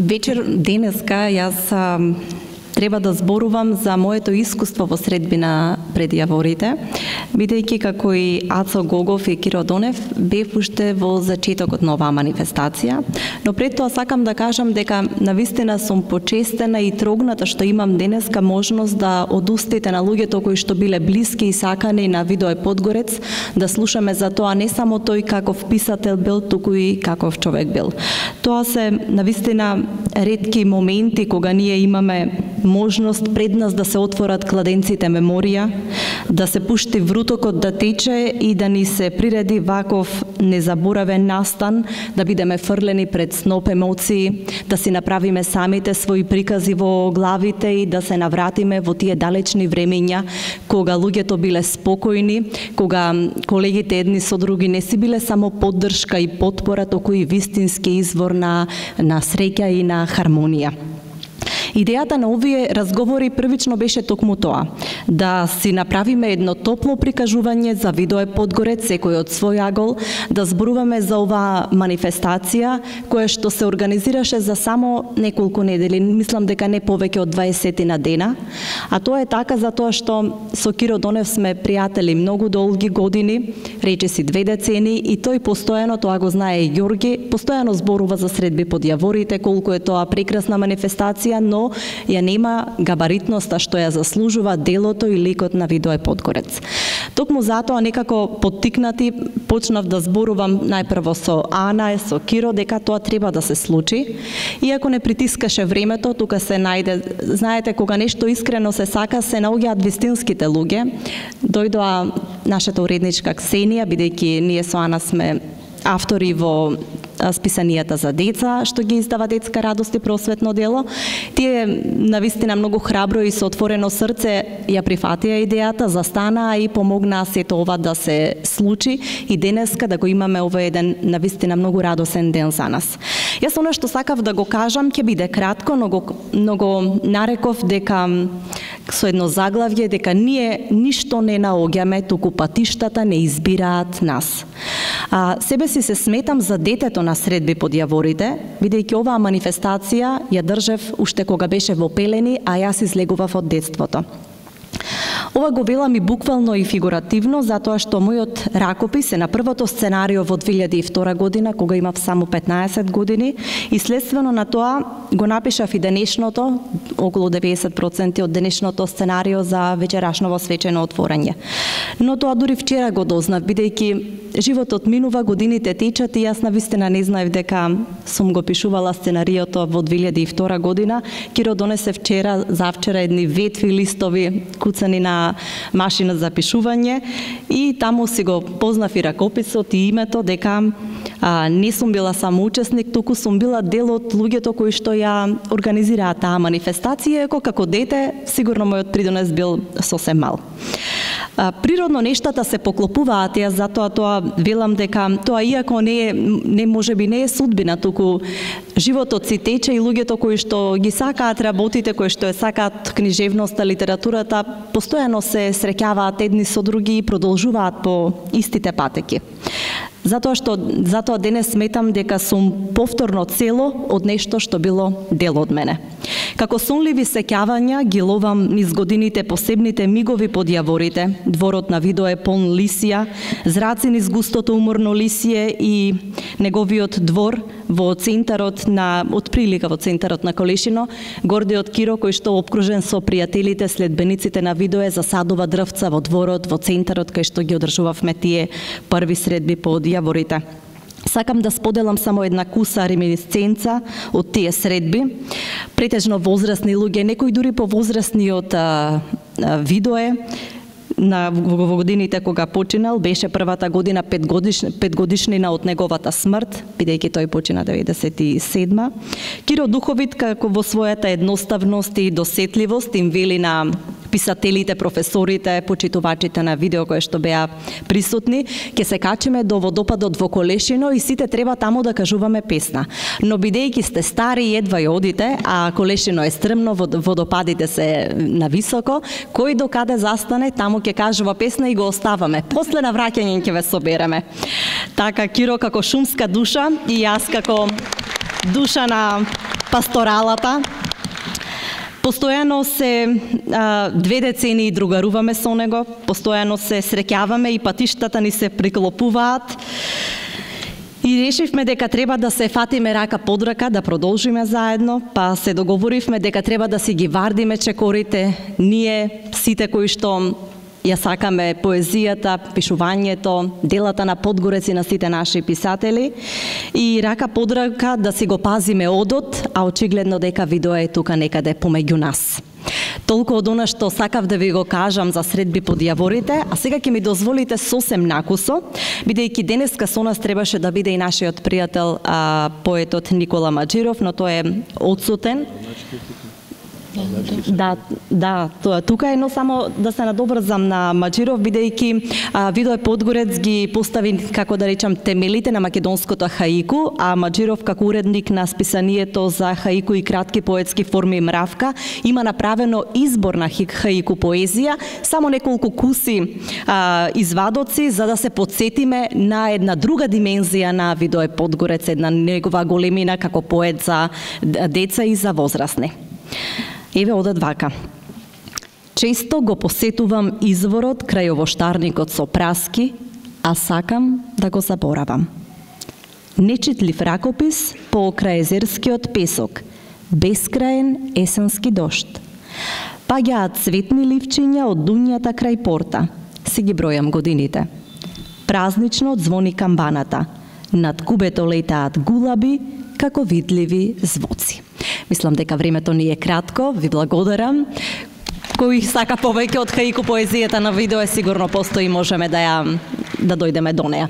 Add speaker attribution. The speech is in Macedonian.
Speaker 1: Вечер денеска јас треба да зборувам за моето искуство во средбина пред јаворите, бидејќи како и Ацо Гогов и Киро Донев бев уште во зачетокот на оваа манифестација, но пред тоа сакам да кажам дека навистина сум почестена и трогната што имам денеска можност да од устите на луѓето кои што биле блиски и сакани на Видое Подгорец да слушаме за тоа не само тој каков писател бил, туку и каков човек бил. Тоа се навистина ретки моменти кога ние имаме можност пред нас да се отворат кладенците меморија, да се пушти врутокот да тече и да ни се приреди ваков незаборавен настан, да бидеме фрлени пред сноп емоции, да си направиме самите своји прикази во главите и да се навратиме во тие далечни времења кога луѓето биле спокојни, кога колегите едни со други не си биле само поддршка и потпора, туку и вистински извор на среќа и на хармонија. Идејата на овие разговори првично беше токму тоа, да си направиме едно топло прикажување за Видое Подгорец, секој од свој агол, да зборуваме за оваа манифестација, која што се организираше за само неколку недели, мислам дека не повеќе од 20 на дена, а тоа е така затоа што со Киро Донев сме пријатели многу долги години, речиси 2 децени, и тој постојано, тоа го знае и Ѓорги, постојано зборува за средби под јаворите, колку е тоа прекрасна манифестација, но ја нема габаритноста што ја заслужува делото и ликот на Видое Подгорец. Токму затоа некако поттикнати почнав да зборувам најпрво со Ана, со Киро, дека тоа треба да се случи. Иако не притискаше времето, тука се најде, знаете, кога нешто искрено се сака, се наоѓаат вистинските луѓе. Дојдоа нашата уредничка Ксенија, бидејќи ние со Ана сме автори во списанијата за деца, што ги издава Детска радост и просветно дело. Тие навистина многу храбро и со отворено срце ја прифатија идејата, застанаа и помогнаа сето ова да се случи и денеска да го имаме овој еден навистина многу радосен ден за нас. Јас она што сакав да го кажам ќе биде кратко, но го нареков дека со едно заглавје дека ние ништо не наоѓаме, туку патиштата не избираат нас. Себе си се сметам за детето на средби под јаворите, бидејќи оваа манифестација ја држев уште кога беше во пелени, а јас излегував од детството. Ова го велам и буквално и фигуративно, затоа што мојот ракопис е на првото сценарио во 2002 година, кога имав само 15 години, и следствено на тоа го напишав и денешното, околу 90% од денешното сценарио за вечерашново свечено отворање. Но тоа дури вчера го дознав, бидејќи животот минува, годините течат и јас навистина не знаев дека сум го пишувала сценариото во 2002 година. Киро донесе вчера, завчера едни ветви листови куцани на машина за пишување и таму си го познав и ракописот и името, дека не сум била само учесник, туку сум била дел од луѓето кои што ја организираат таа манифестација, како дете сигурно мојот придонес бил сосем мал. Природно нештата се поклопуваат, јас затоа тоа велам дека тоа иако не можеби не е судбина, туку животот си тече и луѓето кои што ги сакаат работите, кои што ја сакаат книжевноста, литературата, постојано се среќаваат едни со други и продолжуваат по истите патеки. Затоа денес сметам дека сум повторно цело од нешто што било дел од мене. Како сонливи сеќавања ги ловам низ годините посебните мигови под јаворите, дворот на Видое полн лисија, зраци низ густото уморно лисие и неговиот двор во центарот на, отприлика во центарот на Колешино, гордиот Киро кој што опкружен со пријателите, следбениците на Видое засадува дрвца во дворот, во центарот кај што ги одржувавме тие први средби под јаворите. Сакам да споделам само една куса реминисценца од тие средби. Претежно возрастни луѓе, некои дури повозрастни од Видое, во годините кога починал, беше првата година 5 годишнина од неговата смрт, бидејќи тој почина 97. Киро духовит како во својата едноставност и досетливост им вели на писателите, професорите, почитувачите на видео кои што беа присутни, ќе се качиме до водопадот во Колешино и сите треба таму да кажуваме песна. Но бидејќи сте стари и едва ја одите, а Колешино е стрмно, водопадите се нависоко, кој до каде застане, таму ќе кажува песна и го оставаме. После на враќање ќе ве собереме. Така, Киро како шумска душа и јас како душа на пасторалата. Постојано се 2 децении другаруваме со него, постојано се среќаваме и патиштата ни се приклопуваат. И решивме дека треба да се фатиме рака под рака, да продолжиме заедно, па се договоривме дека треба да си ги вардиме чекорите, ние сите кои што ја сакаме поезијата, пишувањето, делата на Подгорец и на сите наши писатели, и рака под рака да си го пазиме одот, а очигледно дека видео е тука некаде помеѓу нас. Толку од она што сакав да ви го кажам за средби под јаворите, а сега ќе ми дозволите сосем накусо, бидејќи денеска со нас требаше да биде и нашиот пријател поетот Никола Маџиров, но тој е отсутен. Да, тоа тука е, но само да се надобрзам на Маџиров, бидејќи Видој Подгорец ги постави, како да речам, темелите на македонското хаику, а Маџиров како уредник на списанието за хаику и кратки поетски форми Мравка има направено избор на хаику поезија, само неколку куси извадоци за да се подсетиме на една друга димензија на Видој Подгорец, една негова големина како поет за деца и за возрастни. Еве одат вака. Често го посетувам изворот крај овоштарникот со праски, а сакам да го заборавам. Нечитлив ракопис покрај езерскиот песок, бескраен есенски дожд. Паѓаат цветни ливчиња од дуњата крај порта. Си ги бројам годините. Празнично звони камбаната. Над кубето летаат гулаби како видливи звуци. Мислам дека времето ни е кратко, ви благодарам. Кој сака повеќе од хаику поезијата на видео, сигурно постои, можеме да дојдеме до неа.